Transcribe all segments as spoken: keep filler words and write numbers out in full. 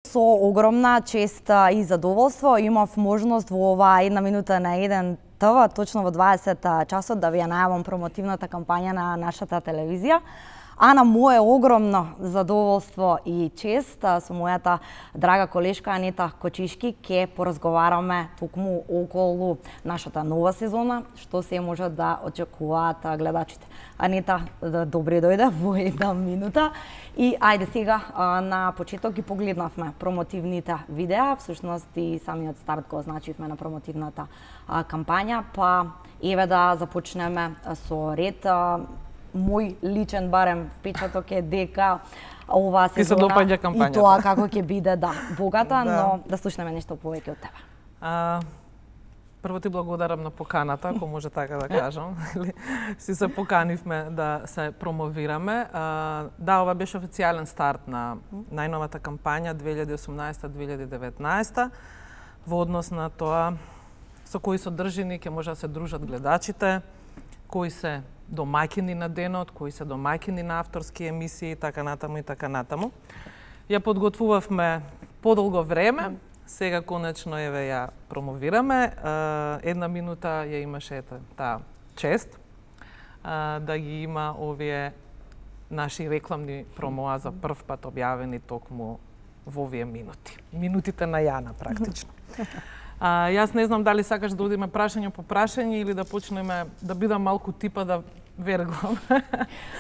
Со огромна чест и задоволство имав можност во оваа една минута на еден ТВ, точно во дваесет часот, да ви ја најавам промотивната кампања на нашата телевизија. А на мое огромно задоволство и чест со мојата драга колешка Анета Кочишки ќе поразговараме токму околу нашата нова сезона, што се може да очекуваат гледачите. Анета, добре дојде во една минута. И ајде сега на почеток ги погледнавме промотивните видеа, всушност и самиот старт го означивме на промотивната кампања, па еве да започнеме со ред. Мој личен барем впечаток е дека оваа сезона и тоа како ќе биде да богата, да. Но да слушнеме нешто повеќе од тебе. А, прво ти благодарам на поканата, ако може така да кажам. Си се поканивме да се промовираме. А, да, ова беше официјален старт на најновата кампања две илјади и осумнаесета - две илјади и деветнаесета во однос на тоа со кои содржини ќе може да се дружат гледачите, кои се домаќини на денот, кои се домаќини на авторски емисии, така натаму и така натаму. Ја подготвувавме подолго време, сега конечно еве ја промовираме. Една минута ја имаше таа чест да ги има овие наши рекламни промоа за прв пат објавени токму во овие минути. Минутите на Јана практично. А, јас не знам дали сакаш да одиме прашање по прашање или да почнеме да бидам малку типа да верглам.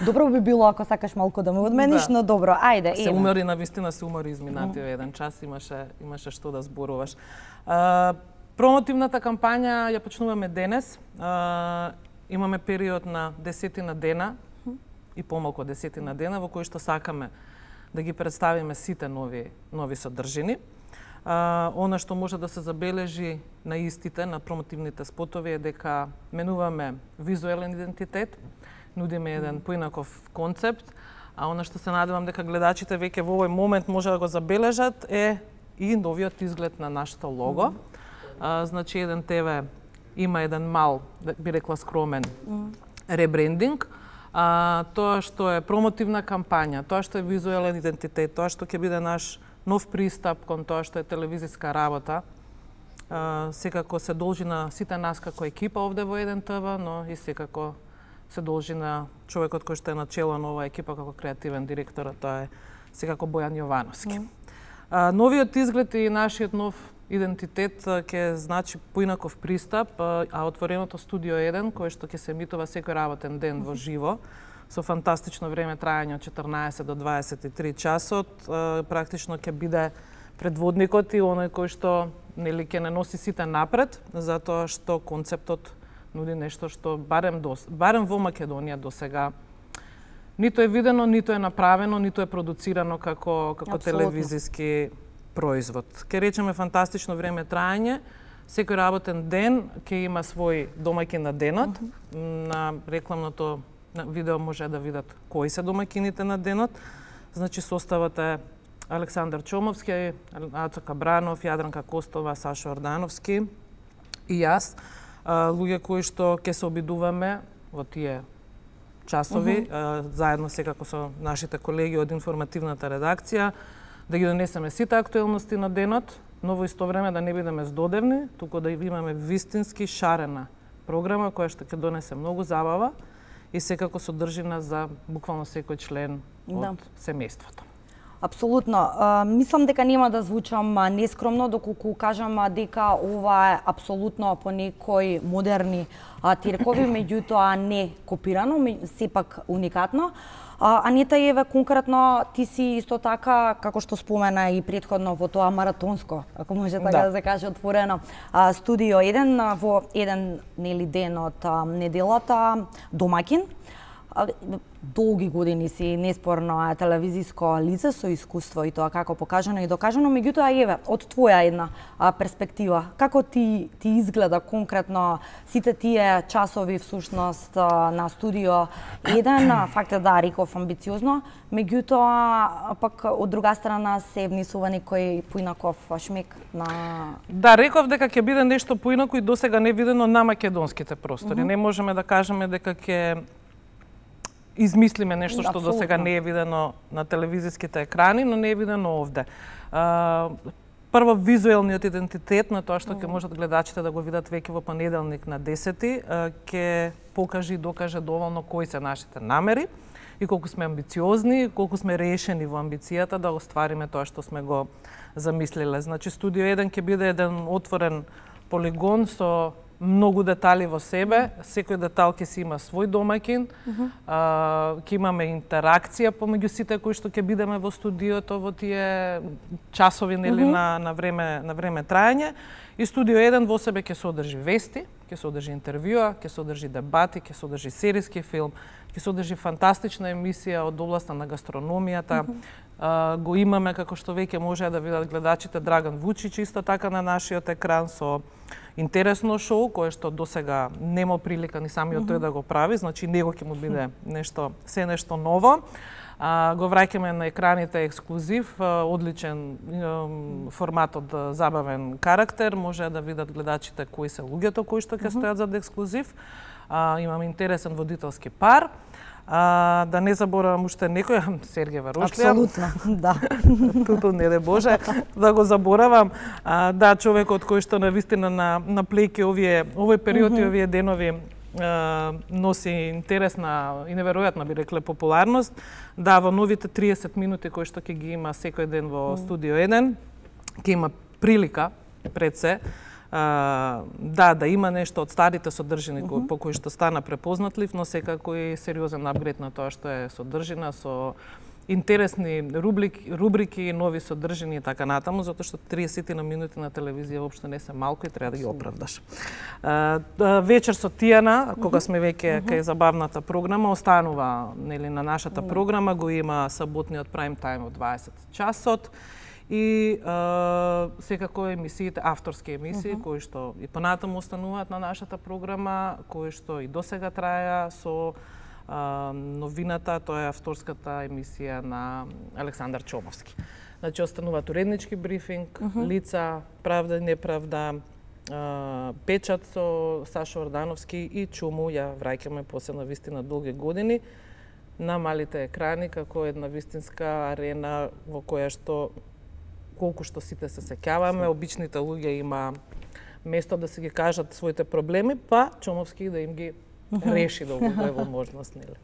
Добро би било ако сакаш малку да ме одмениш, да. Но добро, ајде. Се умори, навистина се умори изминатиот mm. еден час, имаше имаше што да зборуваш. А, промотивната кампања ја почнуваме денес. А, имаме период на десетина дена mm. и помалку од десетина дена во кои што сакаме да ги представиме сите нови нови содржини. Uh, она што може да се забележи на истите, на промотивните спотови е дека менуваме визуелен идентитет, нудиме еден поинаков концепт, а она што се надевам дека гледачите веќе во овој момент може да го забележат е и новиот изглед на нашето лого. Mm -hmm. uh, значи еден ТВ има еден мал, би рекла скромен, mm -hmm. ребрендинг. Uh, тоа што е промотивна кампања, тоа што е визуелен идентитет, тоа што ќе биде наш нов пристап кон тоа што е телевизиска работа. А, секако се должи на сите нас како екипа овде во еден ТВ, но и секако се должи на човекот кој што е начело на оваа екипа како креативен директор, тоа е секако Бојан Јовановски. Mm. А, новиот изглед и нашиот нов идентитет ќе значи поинаков пристап, а отвореното студио еден, кој што ќе се емитува секој работен ден во живо, со фантастично време трајање од четрнаесет до дваесет и три часот, практично ќе биде предводникот и оној кој што нели ќе не носи сите напред, затоа што концептот нуди нешто што барем до, барем во Македонија досега ниту е видено, ниту е направено, ниту е продуцирано како како Абсолютно. Телевизиски производ. Ке речеме фантастично време трајање, секој работен ден ќе има свој домаќин на денот, uh -huh. на рекламното на видео може да видат кои се домаќините на денот. Значи составот е Александар Чомовски, Ацо Кабранов, Јадранка Костова, Сашо Ордановски и јас. Луѓе кои што ќе се обидуваме во тие часови, uh -huh. заедно секако со нашите колеги од информативната редакција, да ги донесеме сите актуелности на денот, но во исто време да не бидеме здодевни, туку да имаме вистински шарена програма која што ќе донесе многу забава и секако содржина за буквално секој член од да. Семејството. Апсолутно. Uh, мислам дека нема да звучам нескромно доколку кажам дека ова е апсолутно по некои модерни uh, тиркови, меѓутоа не копирано, сепак уникатно. Uh, Анета, еве конкретно ти си исто така, како што спомена и претходно во тоа маратонско, ако може така да, да се каже отворено, uh, студио еден во еден нели ден од uh, неделата домаќин. Долги години си неспорно телевизиско лице со искуство и тоа како покажано и докажано, меѓутоа еве од твоја една а, перспектива, како ти ти изгледа конкретно сите тие часови всушност на студио еден, факт е да реков амбициозно, меѓутоа пак од друга страна се внесува некој поинаков шмек на Да, реков дека ќе биде нешто поинако и досега не видено на македонските простори. Mm -hmm. Не можеме да кажеме дека ќе измислиме нешто што до сега не е видено на телевизиските екрани, но не е видено овде. А, прво, визуелниот идентитет на тоа што ќе можат гледачите да го видат веќе во понеделник на десети, ќе покаже и докаже доволно кои се нашите намери и колку сме амбициозни, колку сме решени во амбицијата да оствариме тоа што сме го замислиле. Значи, Студио еден ќе биде еден отворен полигон со многу детали во себе, секој детал ќе си има свој домаќин, uh -huh. а, ќе имаме интеракција помеѓу сите кои што ќе бидеме во студиото во тие часови нели uh -huh. на на време на време траење. И Студио еден во себе ќе содржи вести, ќе содржи интервјуа, ќе содржи дебати, ќе содржи сериски филм, ќе содржи фантастична емисија од областа на гастрономијата. Uh -huh. а, го имаме, како што веќе може да видат гледачите, Драган Вучич исто така на нашиот екран со интересно шоу, кое што досега нема прилика ни самиот тој да го прави, значи него ќе му биде нешто, се нешто ново. А, го враќаме на екраните ексклузив, одличен формат од забавен карактер, може да видат гледачите кои се луѓето кои што ќе стојат зад ексклузив. А, имаме интересен водителски пар. А, да не заборавам уште некој, Сергеј Варушлија. Апсолутно, да. Туто не де Боже, да го заборавам. А, да, човекот кој што навистина на на плејки овие овој период mm -hmm. и овие денови а, носи интересна и неверојатна, би рекле, популарност. Да, во новите триесет минути кои што ќе ги има секој ден во mm -hmm. Студио еден, ќе има прилика пред се Uh, да, да има нешто од старите содржини uh -huh. по кои што стана препознатлив, но секако и сериозен апгрейд на тоа што е содржина со интересни рубрики, рубрики нови содржини и така натаму, затоа што триесет на минути на телевизија воопшто не се малку и треба да ги оправдаш. Uh, uh, вечер со Тијана, кога сме веќе uh -huh. кај забавната програма, останува нели на нашата uh -huh. програма, го има саботниот прайм тајм од дваесет часот. И а, секако емисиите, авторски емисии, uh -huh. кои што и понатаму остануваат на нашата програма, кои што и досега траја со а, новината, тоа е авторската емисија на Александар Чомовски. Значи, остануваат уреднички брифинг, uh -huh. лица, правда и неправда, а, печат со Сашо Ордановски и Чуму, ја враќаме после на вистина долги години на малите екрани, како една вистинска арена во која што колку што сите се сеќаваме, обичните луѓе има место да се ги кажат своите проблеми, па Чомовски да им ги реши да овој возможност, нели?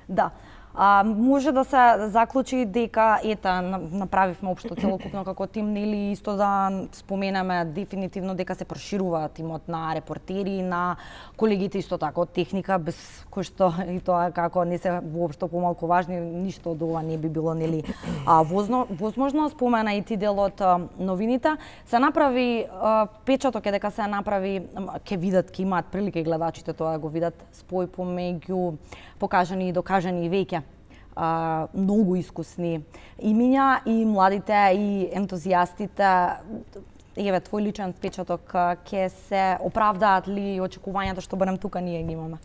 Да. А, може да се заклучи дека ета направивме општо целокупно како тим, нели, исто да споменаме дефинитивно дека се проширува тимот на репортери, на колегите исто така од техника, без кој што и тоа како не се воопшто помалку важни, ништо од ова не би било, нели, а, возно, возможно. Спомена и ти дел од новините. Се направи а, печаток е дека се направи, ќе видат, ќе имаат прилика и гледачите тоа да го видат, спој помеѓу покажани и докажани веќе а, многу искусни имиња и младите и ентузијастите. Еве, твој личен печаток, ќе се оправдаат ли очекувањата што барем тука ние ги имаме?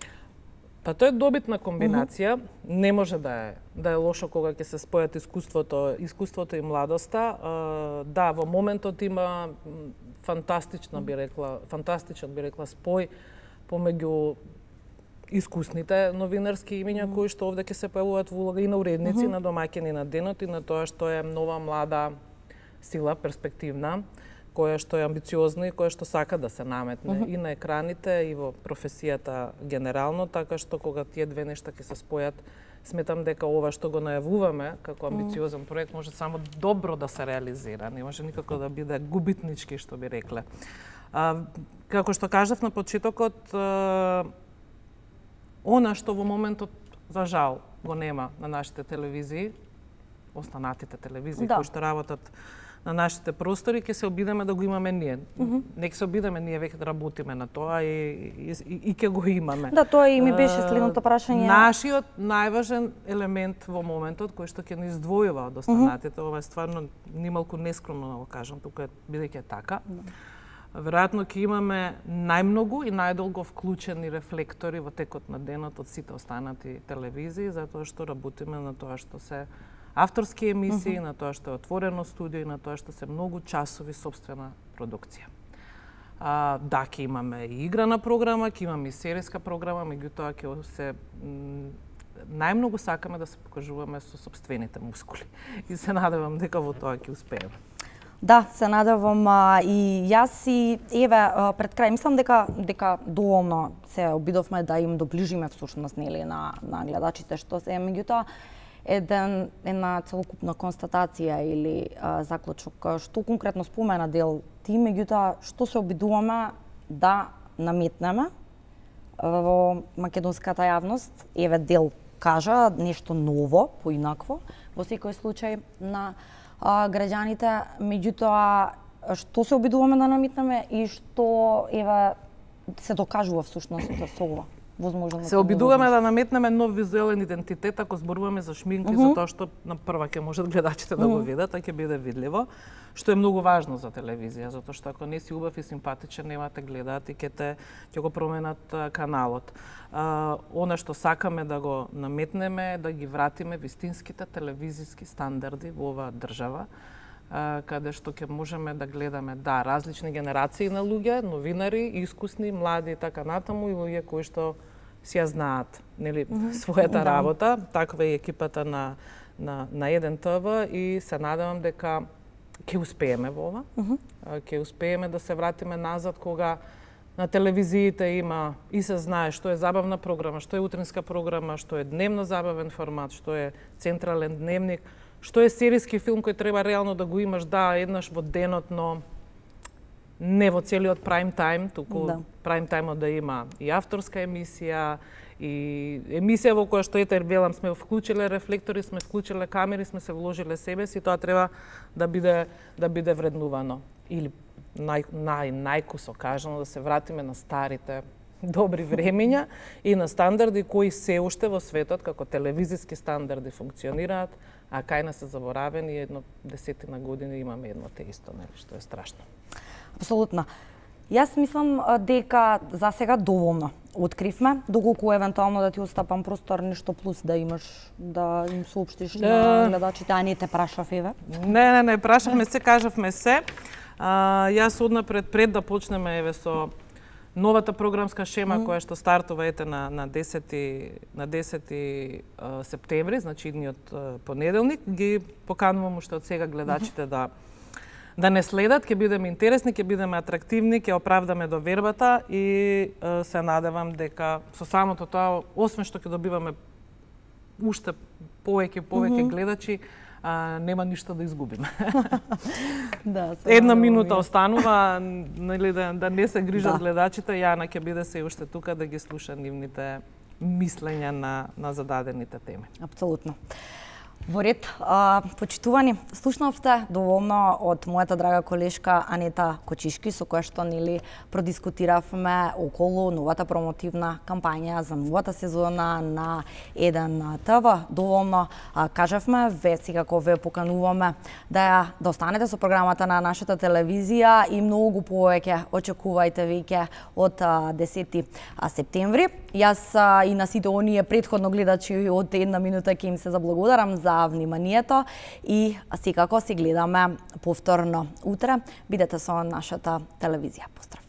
Па тоа е добитна комбинација. Uh -huh. Не може да е да е лошо кога ќе се спојат искуството, искуството и младоста. Uh, да, во моментот има фантастична би рекла, фантастичен би рекла спој помеѓу искусните новинарски имиња mm. кои што овде ќе се појавуваат во улога и на уредници, mm -hmm. на домаќини на денот и на тоа што е нова млада сила, перспективна, која што е амбициозна и која што сака да се наметне mm -hmm. и на екраните и во професијата генерално, така што кога тие две нешта ќе се спојат, сметам дека ова што го најавуваме како амбициозен проект може само добро да се реализира, не може никако да биде губитнички, што би рекле. А, како што кажав на почетокот, а, она што во моментот, за жал, го нема на нашите телевизии, останатите телевизии да. кои што работат на нашите простори, ќе се обидеме да го имаме ние. Mm -hmm. Нека се обидеме ние веќе да работиме на тоа и, и, и, и ќе го имаме. Да, тоа и ми беше следното прашање. Нашиот најважен елемент во моментот кој што ќе ни издвојува од останатите, mm -hmm. ова е стварно нималку нескромно да го кажам, тука бидејќи е така. Mm -hmm. Веројатно ќе имаме најмногу и најдолго вклучени рефлектори во текот на денот од сите останати телевизии, затоа што работиме на тоа што се авторски емисии, uh -huh. на тоа што е отворено студио и на тоа што се многу часови сопствена продукција. А, да, ќе имаме и играна програма, ќе имаме и серијска програма, меѓутоа ќе се најмногу сакаме да се покажуваме со сопствените мускули. И се надевам дека во тоа ќе успееме. Да, се надевам а, и јас и еве а, пред крај мислам дека дека доволно се обидовме да им доближиме всушност нели на на гледачите што се, меѓутоа еден една целокупна констатација или а, заклучок што конкретно спомена Дел ти, меѓутоа што се обидуваме да наметнеме во македонската јавност, еве Дел кажа нешто ново, поинакво во секој случај на а, граѓаните, меѓутоа што се обидуваме да наметнеме и што еве се докажува всушност со ова. Возможно, се обидуваме да наметнеме нов визуелен идентитет ако зборуваме за шминка, uh -huh. затоа што на прва ќе можат гледачите да го видат, а ќе биде видливо, што е многу важно за телевизија, затоа што ако не си убав и симпатичен, нема те гледаат и ќе те ќе го променат каналот. А, она што сакаме да го наметнеме, да ги вратиме вистинските телевизиски стандарди во оваа држава, каде што ќе можеме да гледаме, да, различни генерации на луѓе, новинари, искусни, млади и така натаму, и луѓе кои што си ја знаат, нели, mm -hmm. својата да. работа. Таква е екипата на на на еден ТВ и се надевам дека ќе успееме во ова. Mm -hmm. Ќе успееме да се вратиме назад кога на телевизиите има и се знае што е забавна програма, што е утринска програма, што е дневно забавен формат, што е централен дневник, што е серијски филм кој треба реално да го имаш, да, еднаш во денот, но не во целиот прайм тајм, туку да. Прайм тајмот да има и авторска емисија, и емисија во која што ете велам сме вклучиле рефлектори, сме вклучиле камери, сме се вложиле себе си, тоа треба да биде да биде вреднувано. Или нај нај најкусо кажано да се вратиме на старите добри времиња и на стандарди кои се уште во светот како телевизиски стандарди функционираат, а кај нас се заборавени едно десетина години имаме едно те исто, нели, што е страшно. Апсолутно. Јас мислам дека за сега доволно откривме, доколку евентуално да ти остапам простор нешто плюс да имаш да им соопштиш uh, на гледачите, а не те прашав еве. Не, не, не, прашавме се, кажавме се. А, јас однапред пред да почнеме еве со новата програмска шема mm. која што стартува ете на на десети на десети uh, септември, значи идниот uh, понеделник, ги поканувам уште од сега гледачите mm -hmm. да да не следат, ќе бидеме интересни, ќе бидеме атрактивни, ќе оправдаме довербата и uh, се надевам дека со самото тоа, освен што ќе добиваме уште повеќе повеќе mm -hmm. гледачи, а, нема ништо да изгубиме. Да, една минута останува, нели, да, да не се грижат да. гледачите, Јана ќе биде се уште тука да ги слуша нивните мислења на, на зададените теми. Апсолутно. Во ред, а, почитувани, слушнавте доволно од мојата драга колешка Анета Кочишки, со која што нели продискутиравме околу новата промотивна кампања за новата сезона на еден ТВ. Доволно а, кажавме, ве секако ве покануваме да ја да останете со програмата на нашата телевизија и многу повеќе очекувајте веќе од а, десети септември. Јас а, и на сите оние претходно гледачи од една минута ќе им се заблагодарам за вниманието и секако си гледаме повторно утре. Бидете со нашата телевизија. Поздрав!